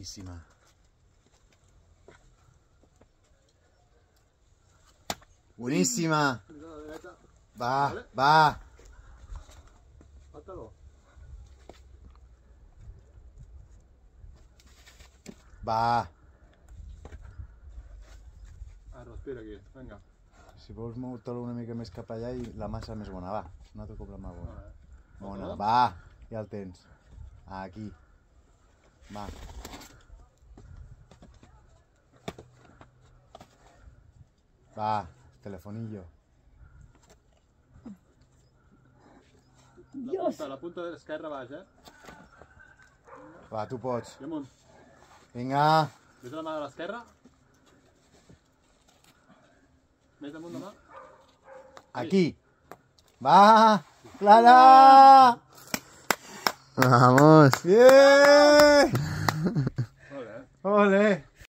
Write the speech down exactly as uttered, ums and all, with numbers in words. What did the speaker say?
Boníssima. Boníssima. Va, va. Va. Ah, respira aquí, vinga. Si vols moure-te-lo una mica més cap allà i la massa més bona, va. Un altre cop la mà bona. Bona, va. Ja el tens. Aquí. Va. Va, telefonillo. La punta, la punta de l'esquerra baix, eh? Va, tu pots. I amunt. Vinga. Ves la mà de l'esquerra. Més amunt la mà. Aquí. Va. Clara. Vamos. Bien. Molt bé. Ole.